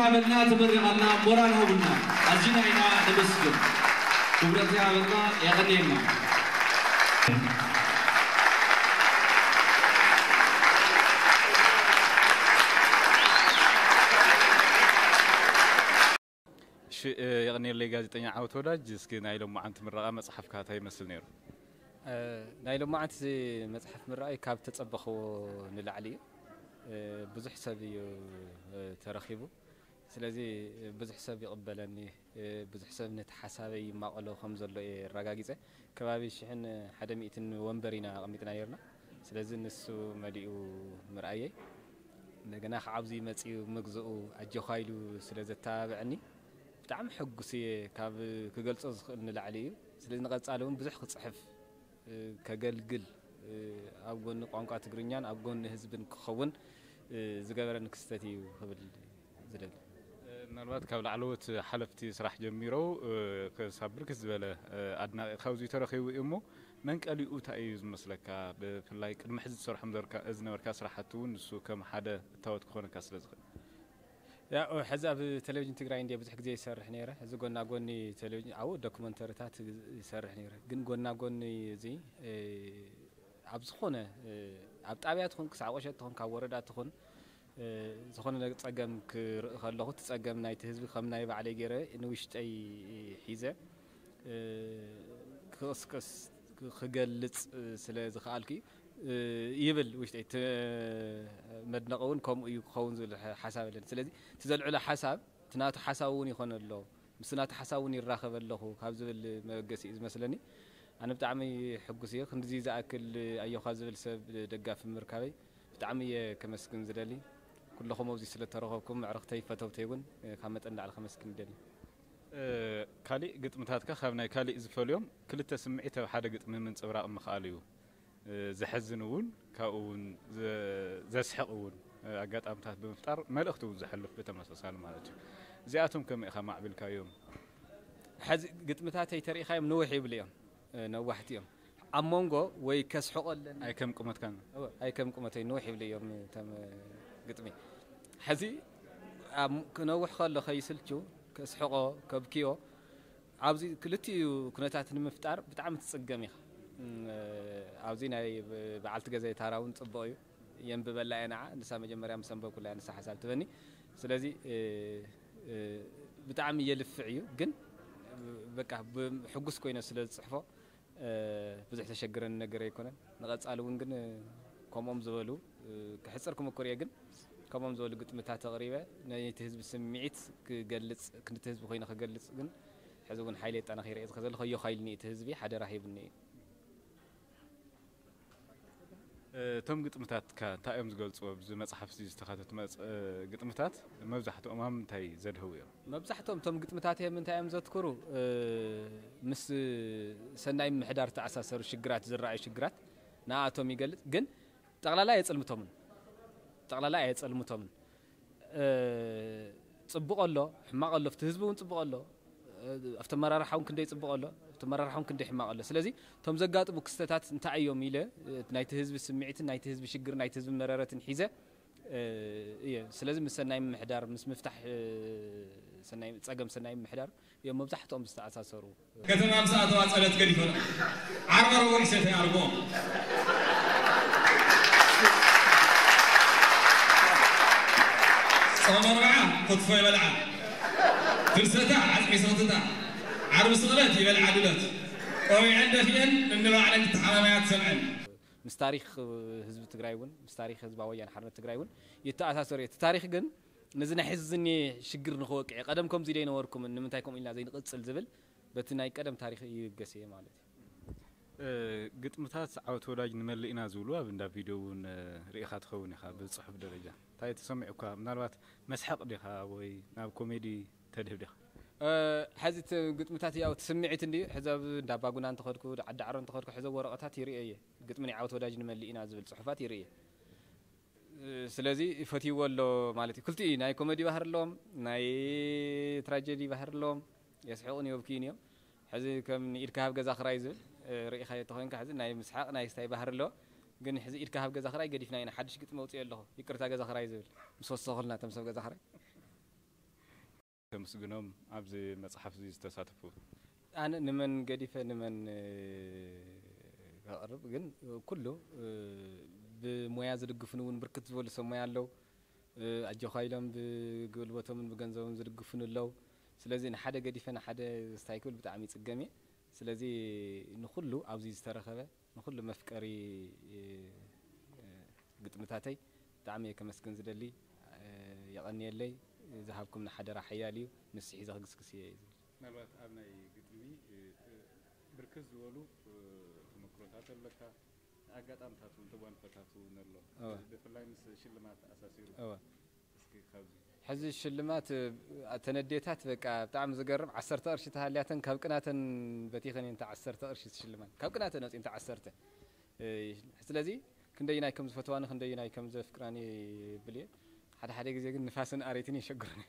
ሃበልና፣ ተመሪቐልና፣ ሞራል ሃቡልና። ኣዚና ኢና ነመስግን። ክብረት ይሃበልና፣ የቐንየልና። እሺ፣ እ፣ የቐንየለይ ጋዜጠኛ ዓወት ወዳጅ። እስኪ ናይ ሎማዓንቲ ምረቓ መጽሓፍካ እንታይ ይመስል ነይሩ? እ፣ ናይ ሎማዓንቲ መጽሓፍ ምረቓይ ካብ ተጸበኽዎ ንላዕሊ እዩ። እ፣ ብዙሕ ሰብ እዩ፣ እ፣ ተረኺቡ። ስለዚ ብዙሕ ሰብ ይቕበለኒ፣ እ፣ ብዙሕ ሰብ ነቲ ሓሳበይ ይማቐሎ ከም ዘሎ እየ ኣረጋጊጸ። ከባቢ ሽሕን ሓደ ሚእትን ወንበር ኢና ኣቐሚጥና ነይርና። ስለዚ ንሱ መሊኡ ምርኣየይ፣ እንደገና ከዓ ኣብዚ መጺኡ ምግዝኡ ኣጆኻ ኢሉ ስለ ዘተባብዐኒ ብጣዕሚ ሕጉስ እየ። ካብ ክገልጾ ዝኽእል ንላዕሊ እዩ። ስለዚ ንቐጻሊ እውን ብዙሕ ክጽሕፍ፣ እ፣ ከገልግል፣ እ፣ ኣብ ጎኒ ቋንቋ ትግርኛን ኣብ ጎኒ ህዝብን ክኸውን፣ እ፣ ዝገበረኒ ክስተት እዩ ክብል ዝደሊ። ምናልባት ካብ ላዕለዎት ሓለፍቲ ስራሕ ጀሚሮ፣ እ፣ ክሳብ ብርክት ዝበለ፣ እ፣ ኣድናቒ ካብዚ ተረኺቡ እዩ እሞ፣ መንቀሊኡ እንታይ እዩ ዝመስለካ? ብፍላይ ቅድሚ ሕዚ ትሰርሖም ዘርካ-፣ ዝነበርካ ስራሕቲ እውን ንሱ ከም ሓደ እታወት ክኾነካ ስለ ዝኽእል። ያው ሕዚ ኣብ ቴሌቪዥን ትግራይ እንድየ ብዙሕ ግዜ ይሰርሕ ነይረ። እዚ ጎና ጎኒ ቴሌቪዥን ኣብኡ ዶክመንተሪታት ይሰርሕ ነይረ። ግን ጎና ጎኒ እዚ፣ እ፣ ኣብ ዝኾነ፣ እ፣ ኣብ ጣብያ ትኹን፣ ክሳዕ ቁሸት ትኹን፣ ካብ ወረዳ ትኹን፣ እ፣ ዝኾነ ጸገም ክርኢ ከለኹ፣ እቲ ጸገም ናይቲ ህዝቢ ከም ናይ ባዕለይ ገይረ ንውሽጠይ ሒዘ፣ እ፣ ክቕስቅስ፣ ክገልጽ ስለ ዝኸኣልኩ እዩ፣ እ፣ ይብል ውሽጠይ። እቲ መድነቒ እውን ከምኡ እዩ ክኸውን ዝብል ሓ-፣ ሓሳብ ኣለኒ። ስለዚ እቲ ዘልዕሎ ሓሳብ፣ እቲ ናቱ ሓሳብ እውን ይኾነ ኣሎ፣ ምስ ናቱ ሓሳብ እውን ይራኸብ ኣለኹ ካብ ዝብል መበገሲ እዩ ዝመስለኒ። ኣነ ብጣዕሚ ሕጉስ እየ። ክንድዚ ዝኣክል ኣዮኻ ዝብል ሰብ ደጋፊ ምርካበይ ብጣዕሚ እየ ከመስግን ዝደሊ። ኩለኹም ኣብዚ ስለ ተረኸብኩም፣ ኣዕርኽተይ ፈተውተይ እውን ካብ መጠን ንላዕሊ ከመስግን ይደሊ። እ፣ ካሊእ ግጥምታትካ ካብ ናይ ካሊእ ዝፈልዮም ክልተ ስምዒት ኣብ ሓደ ግጥሚ ምንጽብራቕ ምኽኣል እዩ። እ፣ ዘሕዝን እውን ካብኡ እውን ዘ-፣ ዘስሕቕ እውን፣ እ፣ ኣጋጣምታት ብምፍጣር መልእኽቲ እውን ዘሕልፍ ብተመሳሳሊ ማለት እዩ። እዚኣቶም ከመይ ኢኻ ማዕቢልካዮም? ሕዚ ግጥምታተይ ተሪኢኻዮም ንውሕ ይብሉ እዮም፣ እ፣ ነዋሕቲ እዮም። ኣብ መንጎ ወይ ከስሕቆ ኣለኒ ኣይ ከም ቁመትካን። እወ፣ ኣይ ከም ቁመተይ ንውሕ ይብሉ እዮም እቶም ግጥሚ። ሕዚ ኣብ ክነውሕ ከሎ ከይስልቹ ከስሕቆ ከብክዮ ኣብዚ ክልቲኡ ኩነታት ንምፍጣር ብጣዕሚ ትጽገም ኢኻ። እም፣ ኣብዚ ናይ ብ-፣ በዓልቲ ገዛይ ታራ እውን ጽቡቕ እዩ። የንብበላ እየ ንዓ፣ ንሳ መጀመርያ ምስ ኣንበብኩላ እያ ንሳ ሓሳብ ትበኒ። ስለዚ፣ እ፣ እ፣ ብጣዕሚ የልፍዕ እዩ፣ ግን በቃ ብ-፣ ሕጉስ ኮይነ ስለ ዝጽሕፎ፣ እ፣ ብዙሕ ተሸግረኒ ነገር ኣይኮነን። ንቐጻሊ እውን ግን፣ እ፣ ከምኦም ዝበሉ፣ እ፣ ክሕጽር ክምኩር እየ፣ ግን ከምኦም ዝበሉ ግጥምታት ኣቕሪበ ነቲ ህዝቢ ስምዒት ክገልጽ፣ ክንድቲ ህዝቢ ኮይነ ክገልጽ ግን ሕዚ እውን ሓይሊ የጠናኺረ እየ ዝኸ-፣ ዘለኹ። ኣዮኻ ኢሉኒ እቲ ህዝቢ ሓደራ ሂቡኒ እዩ። እ፣ እቶም ግጥምታትካ እንታይ እዮም ዝገልጹ? ኣብዚ መጽሓፍ እዚ ዝተኻተቱ መጽ-፣ እ፣ ግጥምታት መብዛሕትኦም ኣብ ምንታይ ዘድህቡ እዮም? መብዛሕትኦም እቶም ግጥምታት እዮም እንታይ እዮም ዘትኩሩ? እ፣ ምስ ሰናይ ምምሕዳር ዝተኣሳሰሩ ሽግራት፣ ዝረኣዩ ሽግራት ንኣቶም ይገልጽ። ግን ጠቕላላ ኣየጸልምቶምን። ጠቕላላ ኣየጸልምቶምን። እ፣ ጽቡቕ ኣሎ፣ ሕማቕ ኣሎ፣ ኣብቲ ህዝቢ እውን ጽቡቕ ኣሎ፣ እ፣ ኣብቲ ኣመራርሓ እውን ክንደይ ጽቡቕ ኣሎ፣ ኣብቲ ኣመራርሓ እውን ክንደይ ሕማቕ ኣሎ። ስለዚ እቶም ዘጋጥሙ ክስተታት እንታይ እዮም ኢለ፣ እ፣ ናይቲ ህዝቢ ስምዒትን ናይቲ ህዝቢ ሽግር፣ ናይቲ ህዝቢ መረረትን ሒዘ፣ እ፣ እየ። ስለዚ ምስ ሰናይ ምምሕዳር፣ ምስ ምፍታሕ፣ እ፣ ሰናይ፣ ጸገም ሰናይ ምምሕዳር እዮም መብዛሕትኦም ዝተኣሳሰሩ። ከተማ ምስ ኣተዋ ጸሎት ገዲፈን ዓርቢ ረቡዕ ይሰተያ ኣርብኦም። ጾም ኣርብዓ ክትፎ ይበልዓ። ፍልሰታ ዓጽሚ ስኽትታ። ዓርቢ ስቕለት ይበልዓ ድሎት። ቆቢዐን ደፊአን እንባዕለን ክተሓማመያ ትሰምዐን። ምስ ታሪኽ ህዝቢ ትግራይ እውን፣ ምስ ታሪኽ ህዝባዊ ወያነ ሓርነት ትግራይ እውን ይተኣሳሰር እዩ። እቲ ታሪኽ ግን ነዚ ናይ ሕዚ ዝኒኤ ሽግር ንኽወቅዕ እዩ። ቀደም ከምዚ ዶ ኣይነበርኩምን፣ ንምንታይ ከምኡ ኢልና ዘይንቕጽል ዝብል በቲ ናይ ቀደም ታሪኽ ይብገስ እየ ማለት እዩ። እ፣ ግጥምታት ዓወት ወዳጅ ንመልእ ኢና ዝብሉ ኣብ እንዳ ቪድዮ እውን፣ እ፣ ርኢኻ ትኸውን ኢኻ ብጽሑፍ ደረጃ። እንታይ ተሰሚዑካ? ምናልባት መስሓቕ ዲኻ ወይ ናብ ኮሜዲ ተድህብ ዲኻ? እ፣ ሕዚ እቲ ግጥምታት ያው እቲ ስምዒት እንድዩ። ሕዚ ኣብ እንዳ ኣባጉና እንተኸድኩ፣ ዓዲ ዓሮ እንተኸድኩ፣ ሕዚ ወረቐታት ይርእየ እየ። ግጥሚ ናይ ዓወት ወዳጅ ንመልእ ኢና ዝብል ጽሑፋት ይርእየ። ስለዚ ይፈትይዎ ኣሎ ማለት እዩ። ክልቲኡ እዩ፣ ናይ ኮመዲ ባህሪ ኣለዎም፣ ናይ ትራጀዲ ባህሪ ኣለዎም። የስሕቑን የብክዩን እዮም። ሕዚ ከም ንኢድካ ሃብ ገዛ ክራይ ዝብል፣ እ፣ ርኢኻዮ ተኾይንካ፣ ሕዚ ናይ ምስሓቕ ናይ ስታይ ባህሪ ኣለዎ። ግን ሕዚ ኢድካ ሃብ ገዛ ክራይ ገዲፍና ኢና፣ ሓድሽ ግጥሚ ኣውፅኦ ኣለኹ፣ ይቅርታ ገዛ ክራይ ዝብል። ምስ ወሰኹልና እቶም ሰብ ገዛ ክራይ። ከመስግኖም ኣብዚ መጽሓፍ እዚ ዝተሳተፉ። ኣነ ንመን ገዲፈ ንመን ከቕርብ ግን ኩሉ ብሞያ ዝድግፉን እውን ብርክት ዝበሉ ሰብ ሞያ ኣለዉ። ኣጆኻ ኢሎም ብጉልበቶምን ብገንዘቦም ዝድግፉን ኣለዉ። ስለዚ ንሓደ ገዲፈ ንሓደ ስታይ ክብል ብጣዕሚ ይፅገም እየ። ስለዚ ንኹሉ ኣብዚ ዝተረኸበ ንኹሉ መፍቀሪ ግጥምታተይ ብጣዕሚ እየ ከመስግን ዝደሊ። የቐንየለይ። ዝሃብኩምኒ ሓደራ ሓያል እዩ። ንሱ ሒዘ ክግስግስ እየ እዩ ዝብል። ምናልባት ኣብ ናይ ግጥሚ ብርክት ዝበሉ ተመክሮታት ኣለካ፣ ኣጋጣምታት እውን ተጓንፎታት እውን ኣሎ። ብፍላይ ምስ ሽልማት ኣሳሲሩ። እስኪ ካብዚ ሕዚ ሽልማት ተነዴታት በቃ ብጣዕሚ ዝገርም ዓሰርተ ቅርሺ ተሃልያተን ካብ ቅናተን በቲኸን እየን ዓሰርተ ቅርሺ ሽልማት ካብ ቅናተን ኣውፅእን ዓሰርተ። ስለዚ ክንደይናይ ከም ዝፈትዋኒ ክንደይናይ ከም ዘፍቅራኒ ይብል እየ። ሓደ ሓደ ግዜ ግን ንፋስን ኣሬትን የሸግሩኒ።